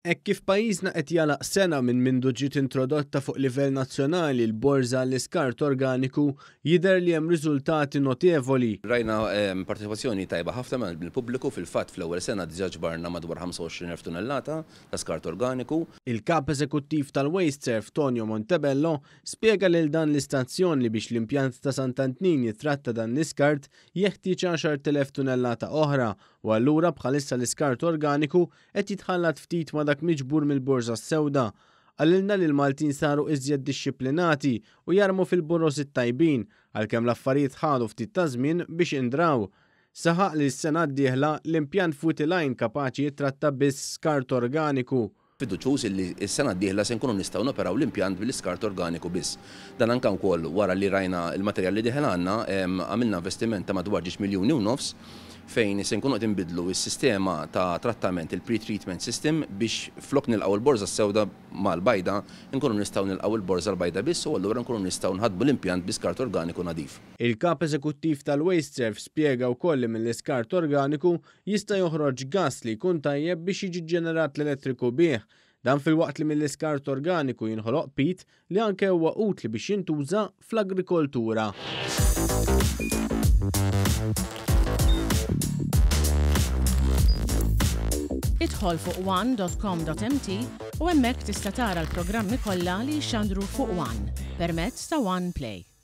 Hekk kif pajjiżna qed jagħlaq sena minn mindu ġiet introdotta fuq livell nazzjonali l-borża għall-iskart organiku, jidher li hemm riżultati notevoli. Rajna parteċipazzjoni tajba ħafna mill-pubbliku, fil-fatt fl-ewwel sena diġà ġbarna madwar 25,000 tunnellata ta' skart organiku. Il-Kap Eżekuttiv tal-WasteServ Tonio Montebello spjega lil dan l-istazzjon li biex l-impjant ta' Sant'Antnin jittratta dan l-iskart jeħtieġ 10,000 tunnellata oħra u allura bħalissa l-iskart organiku qed jitħallat ftit ma' dak miġbur mill-borża s-sewda. Qalilna li l-Maltin saru iżjed dixxiplinati u jarmu fil-boroż it-tajbin, għalkemm l-affarijiet ħadu ftit ta' żmien biex indraw. Saħaq li s-sena d-dieħla l-impjant f'Wied il-Għajn kapaċi jittratta biss skart organiku. Fiduċjuż illi s-sena d-dieħla se nkunu nistgħu noperaw l-impjant bil-iskart organiku biss. Dan anke wkoll wara li rajna l-materjal li dieħel għandna, għamilna investiment ta' madwar ġiex miljuni u nofs fejn se nkunu qed inbiddlu s-sistema ta' trattament, il-pre-treatment system, biex flok nilqgħu l-borża s-sewda mal-bajda, inkunu nistgħu nilqgħu l-borża l-bajda biss u allura nkunu nistgħu nħaddmu l-impjant bi skart organiku nadif. Il-Kap Eżekuttiv tal-WasteServ spjega wkoll li mill-iskart organiku jista' joħroġ gass li jkun tajjeb biex jiġi ġġenerat l-elettriku bih. Dan filwaqt li mill-iskart organiku jinħoloq pit li anke huwa utli biex jintuża fl-agrikoltura. Idħol fuq one.com.mt u hemmhekk tista' tara l-programmi kollha li jixxandru fuq One permezz ta' One Play.